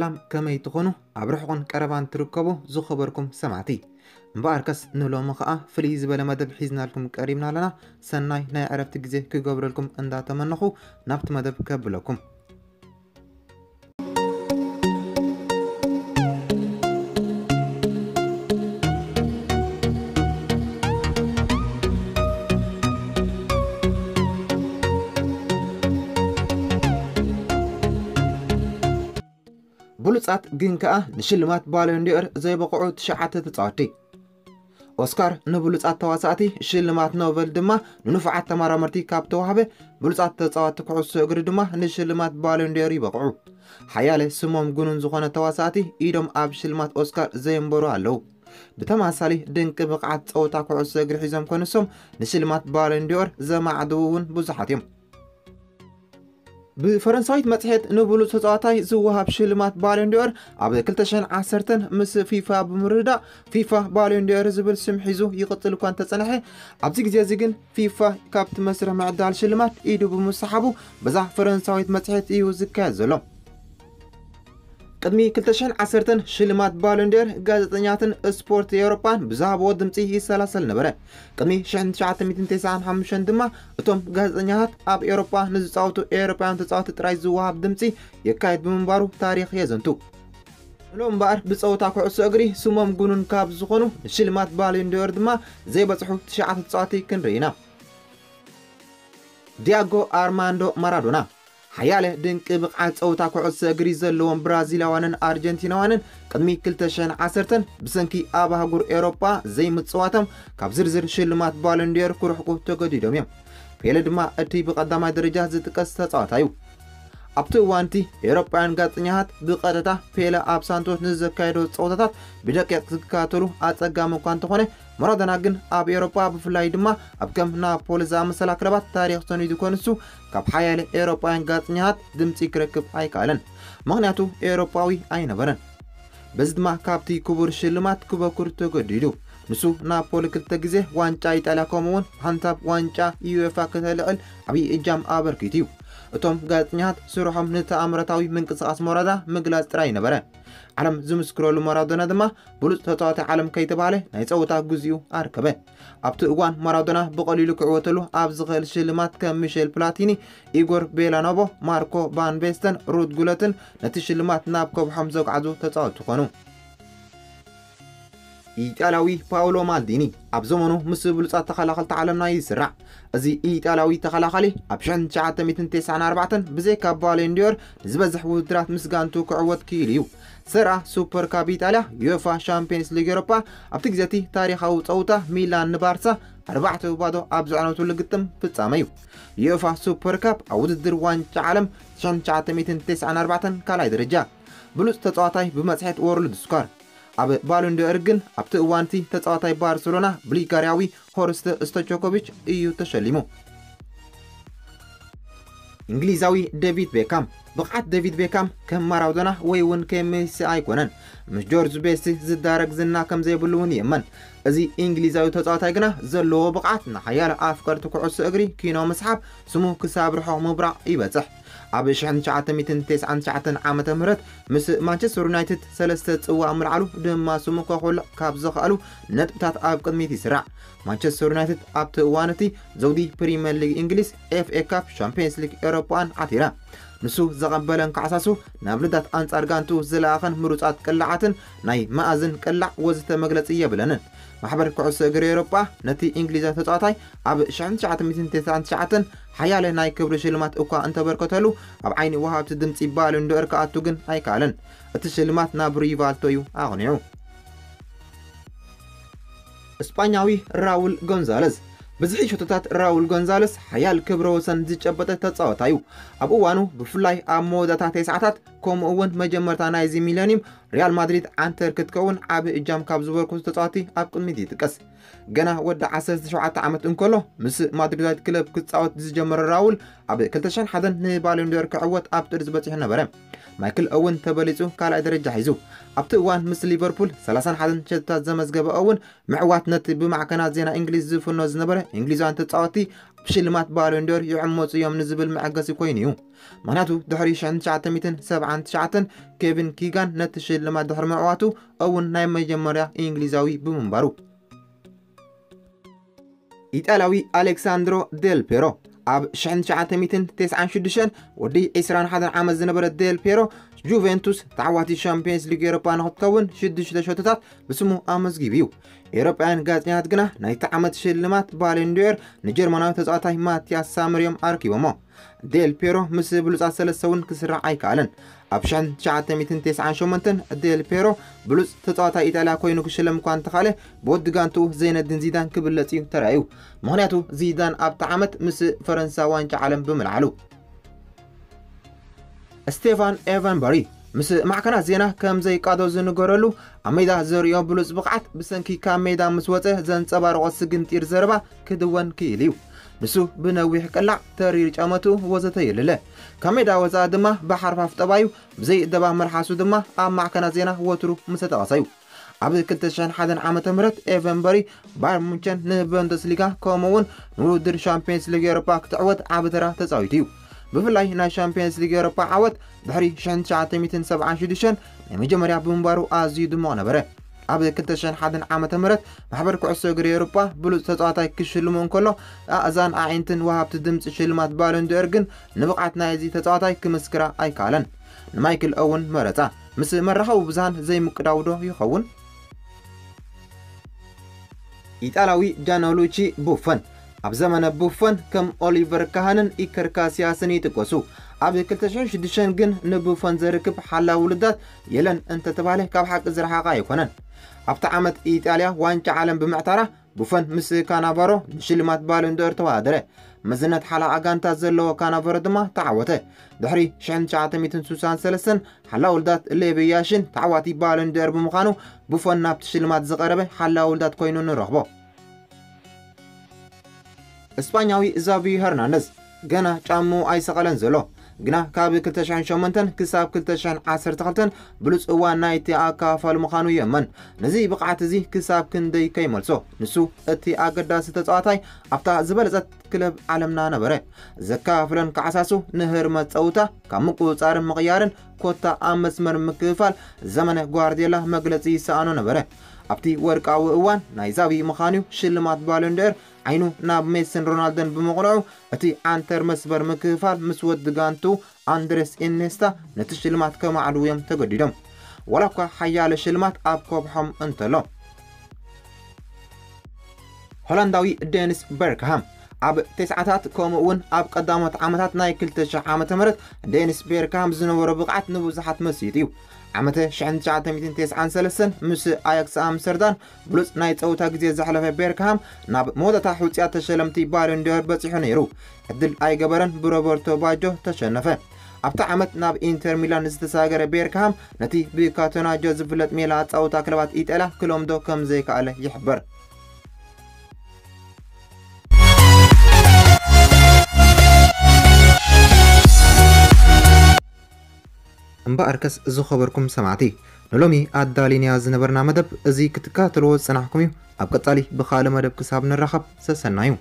ሰላም፣ ከመይ ትኾኑ? ኣብ ርሑቕን ቀረባን ትርከቡ ዝኸበርኩም ሰማዕቲ፣ እምበኣርከስ ንሎሚ ኸኣ ፍልይ ዝበለ መደብ ሒዝናልኩም ቀሪብና ኣለና። ሰናይ ናይ ዕረፍቲ ግዜ ክገብረልኩም እንዳተመነኹ ናብቲ መደብ ከብለኩም። ብሉጻት ግን ከኣ ንሽልማት ባሎን ዲኦር ዘይበቕዑ ትሽዓተ ተጻወትቲ። ኦስካር ንብሉጻት ተዋሳእቲ፣ ሽልማት ኖበል ድማ ንንፉዓት ተመራመርቲ ካብ ተዋህበ፣ ብሉጻት ተጻወትቲ ኩዕሶ እግሪ ድማ ንሽልማት ባሎን ዲኦር ይበቕዑ። ሓያለ ስሞም ግኑን ዝኾነ ተዋሳእቲ ኢዶም ኣብ ሽልማት ኦስካር ዘየንበሩ ኣለዉ። ብተመሳሳሊ ድንቂ ብቕዓት ጸወታ ኩዕሶ እግሪ ሒዞም ከንሶም ንሽልማት ባሎን ዲኦር ዘማዕድዉ እውን ብዙሓት እዮም። ብፈረንሳዊት መጽሔት ንብሉጽ ተጻዋታይ ዝወሃብ ሽልማት ባሎን ዲኦር ኣብ ክልተ ሽሕን ዓሰርተን ምስ ፊፋ ብምርድዳእ ፊፋ ባሎን ዲኦር ዝብል ስም ሒዙ ይቕጽል እኳ እንተጸንሐ፣ ኣብዚ ግዜ እዚ ግን ፊፋ ካብቲ መስርሕ ምዕዳል ሽልማት ኢዱ ብምስሓቡ በዛ ፈረንሳዊት መጽሔት እዩ ዝካየድ ዘሎ። ቅድሚ ክልተ ሽሕን ዓሰርተን ሽልማት ባሎን ዲኦር ጋዜጠኛትን ስፖርት ኤውሮጳን ብዝሃብዎ ድምጺ ይሰላሰል ነበረ። ቅድሚ ሽሕን ትሽዓተ ሚእትን ተስዓን ሓሙሽተን ድማ እቶም ጋዜጠኛታት ኣብ ኤውሮጳ ንዝጻወቱ ኤውሮጳውያን ተጻወቲ ጥራይ ዝወሃብ ድምጺ የካይድ ብምንባሩ ታሪኽ የዘንቱ። ንሎም እምበኣር ብጸወታ ኩዕሶ እግሪ ስሞም ግኑን ካብ ዝኾኑ ንሽልማት ባሎን ዲኦር ድማ ዘይበጽሑ ትሽዓተ ተጻወቲ ክንርኢ ኢና። ዲያጎ ኣርማንዶ ማራዶና። ሓያለ ድንቂ ብቕዓት ጸወታ ኩዕሶ እግሪ ዘለዎም ብራዚላውያንን ኣርጀንቲናውያንን ቅድሚ ክልተ ሽሕን ዓሰርተን ብሰንኪ ኣብ ኣህጉር ኤውሮጳ ዘይምጽዋቶም ካብ ዝርዝር ሽልማት ባሎን ዲኦር ክርሕቁ ተገዲዶም እዮም። ፔለ ድማ እቲ ብቐዳማይ ደረጃ ዝጥቀስ ተጻዋታይ እዩ። ኣብቲ እዋን እቲ ኤውሮጳውያን ጋዜጠኛታት ብቐጥታ ፔለ ኣብ ሳንቶስ ንዘካየዶ ጸወታታት ብደቂቕ ዝከታተሉ ኣጸጋሚ እኳ እንተኾነ፣ ማራዶና ግን ኣብ ኤውሮጳ ብፍላይ ድማ ኣብ ከም ናፖሊ ዝኣመሰላ ክለባት ታሪኽ ሰኒዱ ከንሱ ካብ ሓያለ ኤውሮጳውያን ጋዜጠኛታት ድምጺ ክረክብ ኣይከኣለን። ምኽንያቱ ኤውሮጳዊ ኣይነበረን። በዚ ድማ ካብቲ ክቡር ሽልማት ክበኩር ተገዲዱ። ንሱ ናፖሊ ክልተ ግዜ ዋንጫ ኢጣልያ ከምኡ'ውን ሓንሳብ ዋንጫ ዩኤፋ ከተልዕል ዓብዪ እጃም ኣበርኪቱ እዩ። እቶም ጋዜጠኛታት ስርሖም ንተኣምራታዊ ምንቅስቓስ ማራዶና ምግላጽ ጥራይ ነበረ። ዓለም ዝምስክረሉ ማራዶና ድማ ብሉጽ ተጻዋታይ ዓለም ከይተባህለ ናይ ጸወታ ግዜኡ ኣርከበ። ኣብቲ እዋን ማራዶና ብቐሊሉ ክዕወተሉ ኣብ ዝኽእል ሽልማት ከም ሚሼል ፕላቲኒ፣ ኢጎር ቤላኖቮ፣ ማርኮ ቫን ቤስተን፣ ሩድ ጉለትን ነቲ ሽልማት ናብ ከብሖም ዘጓዕዙ ተጻወትቲ ኮኑ። ኢጣልያዊ ፓውሎ ማልዲኒ ኣብ ዘመኑ ምስ ብሉጻት ተኸላኸልቲ ዓለምና ይስራዕ። እዚ ኢጣልያዊ ተኸላኻሊ ኣብ ሽሕን ትሽዓተ ሚእትን ተስዓን ኣርባዕተን ብዘይካ ባሎን ዲኦር ንዝበዝሕ ውድድራት ምስ ጋንቱ ክዕወት ክኢሉ እዩ። ሰርኣ ሱፐር ካፕ ኢጣልያ፣ ዩኤፋ ሻምፒየንስ ሊግ ኤውሮጳ፣ ኣብቲ ግዜ እቲ ታሪኻዊ ጸውታ ሚላን ንባርሳ ኣርባዕተ ባዶ ኣብ ዘዕነቱሉ ግጥም ፍጻመ እዩ። ዩኤፋ ሱፐር ካፕ ኣብ ውድድር ዋንጫ ዓለም ሽሕን ትሽዓተ ሚእትን ተስዓን ኣርባዕተን ካልኣይ ደረጃ። ብሉጽ ተጻዋታይ ብመጽሔት ወርልድ ስኳር። ኣብ ባሎን ዲኦር ግን ኣብቲ እዋን እቲ ተጻዋታይ ባርሰሎና ቡልጋርያዊ ሆርስት ስቶጆኮቪች እዩ ተሸሊሙ። እንግሊዛዊ ዴቪድ ቤካም። ብቕዓት ዴቪድ ቤካም ከም ማራዶና ወይ እውን ከም ሜሲ ኣይኮነን። ምስ ጆርጅ ቤስት ዝዳረግ ዝና ከም ዘይብሉ እውን ይእመን። እዚ እንግሊዛዊ ተጻዋታይ ግና ዘለዎ ብቕዓት ንሓያለ ኣፍቀርቲ ኩዕሶ እግሪ ኪኖ ምስሓብ ስሙ ክሳብ ርሑቕ ምብራቕ ይበጽሕ። ኣብ ሽሕን ትሽዓተ ሚእትን ተስዓን ትሽዓተን ዓመተ ምህረት ምስ ማንቸስተር ዩናይትድ ሰለስተ ጽዋእ ምልዓሉ ድማ ስሙ ከኹልዕ ካብ ዝኽኣሉ ነጥብታት ኣብ ቅድሚት ይስራዕ። ማንቸስተር ዩናይትድ ኣብቲ እዋን እቲ ዘውዲ ፕሪምየር ሊግ እንግሊዝ፣ ኤፍ ኤ ካፕ፣ ሻምፒየንስ ሊግ ኤውሮጳን ዓቲራ። ንሱ ዘቐበለን ካሕሳሱ ናብ ልዳት ኣንጻር ጋንቱ ዝለኣኸን ምሩጻት ቅላዓትን ናይ መኣዝን ቅላዕ ወዘተ መግለጺ የብለንን። ማሕበር ኩዕሶ እግሪ ኤውሮጳ ነቲ እንግሊዛዊ ተጻዋታይ ኣብ ሽሕን ትሽዓተ ሚእትን ተስዓን ትሽዓተን ሓያለ ናይ ክብሪ ሽልማት እኳ እንተበርከተሉ፣ ኣብ ዓይኒ ወሃብቲ ድምጺ ባሎን ዶር ክኣቱ ግን ኣይከኣለን። እቲ ሽልማት ናብ ሪቫልቶ እዩ ኣቕኒዑ። እስጳኛዊ ራውል ጎንዛለስ። ብዝሒ ሸቶታት ራውል ጎንዛለስ ሓያል ክብረ ወሰን ዝጨበጠ ተጻዋታይ እዩ። ኣብ እዋኑ ብፍላይ ኣብ መወዳእታ ተስዓታት ከምኡ እውን መጀመርታ ናይዚ ሚለኒየም ሪያል ማድሪድ ዓንተር ክትከውን ዓቢ እጃም ካብ ዝበርክቱ ተጻወቲ ኣብ ቅድሚት ይጥቀስ። ገና ወዲ ዓሰርተ ሸውዓተ ዓመት እንከሎ ምስ ማድሪዳዊት ክለብ ክጻወት ዝጀመረ ራውል ኣብ ክልተ ሽሕን ሓደን ንባሎን ዶር ክዕወት ኣብ ጥርዚ በጺሑ ነበረ። ማይክል ኦውን ተበሊጹ ካልኣይ ደረጃ ሒዙ። ኣብቲ እዋን ምስ ሊቨርፑል ሰላሳን ሓደን ሸቶታት ዘመዝገበ ኦውን ምዕዋት ነቲ ብማዕከናት ዜና እንግሊዝ ዝፍኖ ዝነበረ እንግሊዛውያን ተጻወቲ ብሽልማት ባሎንዶር ይዕመፁ እዮም ንዝብል መዐገሲ ኮይኑ እዩ። ምኽንያቱ ድሕሪ ሽሕን ትሽዓተ ሚእትን ሰብዓን ትሽዓተን ኬቪን ኪጋን ነቲ ሽልማት ድሕሪ ምዕዋቱ እውን ናይ መጀመርያ እንግሊዛዊ ብምንባሩ። ኢጣልያዊ ኣሌክሳንድሮ ዴል ፔሮ ኣብ ሽሕን ትሽዓተ ሚእትን ተስዓን ሽዱሽተን ወዲ ዕስራን ሓደን ዓመት ዝነበረ ዴል ፔሮ ጁቬንቱስ ተዓዋቲ ሻምፒየንስ ሊግ ኤሮፓ ንክትከውን ሽዱሽተ ሸቶታት ብስሙ ኣመዝጊቡ እዩ። ኤሮጳውያን ጋዜጠኛታት ግና ናይቲ ዓመት ሽልማት ባሎንዶር ንጀርመናዊ ተጻዋታይ ማቲያስ ሳመር እዮም ኣረኪቦሞ። ዴል ፔሮ ምስ ብሉጻት ሰለስተ እውን ክስራሕ ኣይከኣለን። ኣብ ሽሕን ትሽዓተ ሚእትን ተስዓን ሸሞንተን ዴል ፔሮ ብሉጽ ተጻዋታይ ኢጣልያ ኮይኑ ክሽለም እኳ እንተኻለ ብወዲ ጋንትኡ ዘይነዲን ዚዳን ክብለጽ እዩ ተራእዩ። ምኽንያቱ ዚዳን ኣብቲ ዓመት ምስ ፈረንሳ ዋንጫ ዓለም ብምልዓሉ። ስቴፋን ኤቨንበሪ ምስ ማዕከናት ዜና ከም ዘይቃዶ ዝንገረሉ ኣብ ሜዳ ዘርእዮ ብሉጽ ብቕዓት ብሰንኪ ካብ ሜዳ ምስ ወጸ ዘንጸባርቖ ስግንጢር ዘረባ ክድወን ክኢሉ እዩ። ንሱ ብነዊሕ ቅላዕ ተሪር ጫመቱ ወዘተ የልለ። ካብ ሜዳ ወፃእ ድማ ብሓርፋፍ ጠባዩ ብዘይ ደባ መልሓሱ ድማ ኣብ ማዕከናት ዜና ወትሩ ምሰጠቐሰ እዩ። ኣብ ክልተ ሽሕን ሓደን ዓመተ ምህረት ኤቨንበሪ ባየር ሙንቸን ንቡንደስሊጋ ከምኡ እውን ንውድድር ሻምፒየንስ ሊግ ኤውሮፓ ክትዕወት ዓቢ ተራ ተፃዊቱ እዩ። ብፍላይ ናይ ሻምፒየንስ ሊግ ኤውሮፓ ዓወት ድሕሪ ሽሕን ትሽዓተ ሚእትን ሰብዓን ሽዱሽተን ናይ መጀመርያ ብምንባሩ ኣዝዩ ድሙቕ ነበረ። ኣብ ክልተ ሽሕን ሓደን ዓመተ ምህረት ማሕበር ኩዕሶ እግሪ ኤውሮፓ ብሉፅ ተፃዋታይ ክሽልሙ እንከሎ ኣእዛን ኣዒንትን ወሃብቲ ድምፂ ሽልማት ባሎንዶር ግን ንብቕዓት ናይዚ ተፃዋታይ ክምስክራ ኣይከኣለን። ንማይክል ኦውን መረፃ። ምስ መራኸቢ ብዙሃን ዘይምቅዳው ዶ ይኸውን? ኢጣልያዊ ጃንሉቺ ቡፎን። ኣብ ዘመነ ቡፎን ከም ኦሊቨር ካህንን ኢከር ካሲያስን ይጥቀሱ። ኣብ ክልተ ሽሕን ሽዱሽተን ግን ንቡፎን ዘርክብ ሓላዊ ውልዳት የለን እንተተባህለ ካብ ሓቂ ዝረሓቐ ኣይኮነን። ኣብቲ ዓመት ኢጣልያ ዋንጫ ዓለም ብምዕታራ ቡፎን ምስ ካናቫሮ ንሽልማት ባሎንዶር ተወዳደረ። መዝነት ሓላቓ ጋንታ ዘለዎ ካናቫሮ ድማ ተዓወተ። ድሕሪ ሽሕን ትሽዓተ ሚእትን ስሳን ሰለስተን ሓላዊ ውልዳት ሌቪ ያሽን ተዓዋቲ ባሎንዶር ብምዃኑ ቡፎን ናብቲ ሽልማት ዝቐረበ ሓላዊ ውልዳት ኮይኑ ንረኽቦ። እስጳኛዊ ዛቪ ሄርናንደዝ ገና ጫምኡ ኣይሰቐለን ዘሎ፣ ግና ካብ ክልተ ሽሕን ሸሞንተን ክሳብ ክልተ ሽሕን ዓሰርተ ክልተን ብሉጽ እዋን ናይቲ ኣካፋል ምዃኑ ይእመን። ነዚ ብቕዓት እዚ ክሳብ ክንደይ ከይመልሶ፣ ንሱ እቲ ኣገዳሲ ተጻዋታይ ኣብታ ዝበለጸት ክለብ ዓለምና ነበረ። ዘካፍለን ካዕሳሱ ንህርመት ጸውታ ካብ ምቁጽጻርን ምቕያርን ኮታ ኣብ መስመር ምክፍፋል ዘመነ ጓርዲዮላ መግለጺ ይሰኣኖ ነበረ። ኣብቲ ወርቃዊ እዋን ናይ ዛቪ ምዃኑ ሽልማት ባሎንዶር ዓይኑ ናብ ሜስን ሮናልዶን ብምቕንዑ እቲ ዓንተር መስመር ምክፍፋል ምስ ወዲ ጋንቱ ኣንድሬስ ኢኔስታ ነቲ ሽልማት ከማዕድዉ እዮም ተገዲዶም። ዋላ እኳ ሓያለ ሽልማት ኣብ ከብሖም እንተሎ። ሆላንዳዊ ዴኒስ ቤርክሃም ኣብ ተስዓታት ከምኡ እውን ኣብ ቀዳሞት ዓመታት ናይ ክልተ ሽሕ ዓመተ ምህረት ዴኒስ ቤርክሃም ዝነበሮ ብቕዓት ንብዙሓት መሲጡ እዩ። ዓመተ ሽሕን ትሽዓተ ሚእትን ተስዓን ሰለስተን ምስ ኣያክስ ኣምስተርዳም ብሉጽ ናይ ጸውታ ግዜ ዘሕለፈ ቤርክሃም ናብ መወዳእታ ሕውጽያ ተሸለምቲ ባሎንዶር በጺሑ ነይሩ። ዕድል ኣይገበረን፣ ብሮበርቶ ባጆ ተሸነፈ። ኣብቲ ዓመት ናብ ኢንተር ሚላን ዝተሳገረ ቤርክሃም ነቲ ብካቶናጆ ዝፍለጥ ሜላ ኣጻውታ ክለባት ኢጣልያ ክለምዶ ከም ዘይከኣለ ይሕበር። እምበኣርከስ ዝኸበርኩም ሰማዕቲ፣ ንሎሚ ኣዳሊንያ ዝነበርና መደብ እዚ ክትከታተልዎ ዝጸናሕኩም እዩ። ኣብ ቀጻሊ ብኻልእ መደብ ክሳብ ንራኸብ ሰሰናዩ።